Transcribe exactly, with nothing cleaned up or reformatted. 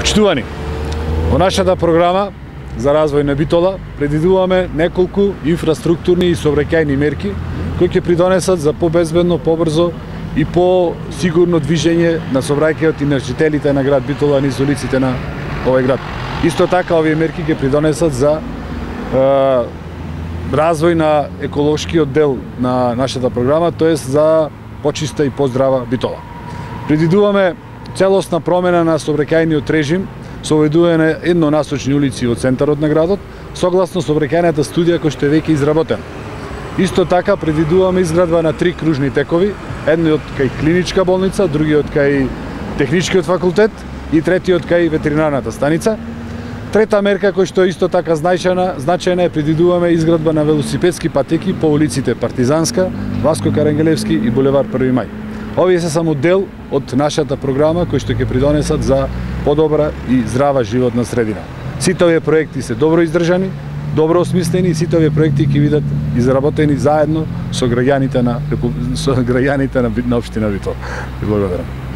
Почитувани, во нашата програма за развој на Битола предвидуваме неколку инфраструктурни и сообраќајни мерки кои ќе придонесат за побезбедно, побрзо и по-сигурно движење на сообраќајот и на жителите на град Битола низ улиците на овој град. Исто така овие мерки ќе придонесат за е, развој на еколошкиот дел на нашата програма, тоест за почиста и поздрава Битола. Предвидуваме целосна промена на сообраќајниот режим со оведување на еднонасочни улици во центарот на градот, согласно сообраќајната студија која што е веќе изработена. Исто така предвидуваме изградба на три кружни текови, едниот кај клиничка болница, другиот кај техничкиот факултет и третиот кај ветеринарната станица. Трета мерка која што е исто така значајна, значајна е предвидуваме изградба на велосипедски патеки по улиците Партизанска, Васко Карангелевски и булевар Први мај. Овие се само дел од нашата програма кои што ќе придонесат за подобра и здрава животна средина. Сите овие проекти се добро издржани, добро осмислени и сите овие проекти ќе бидат изработени заедно со граѓаните на со граѓаните на, на општина Битола. Благодарам.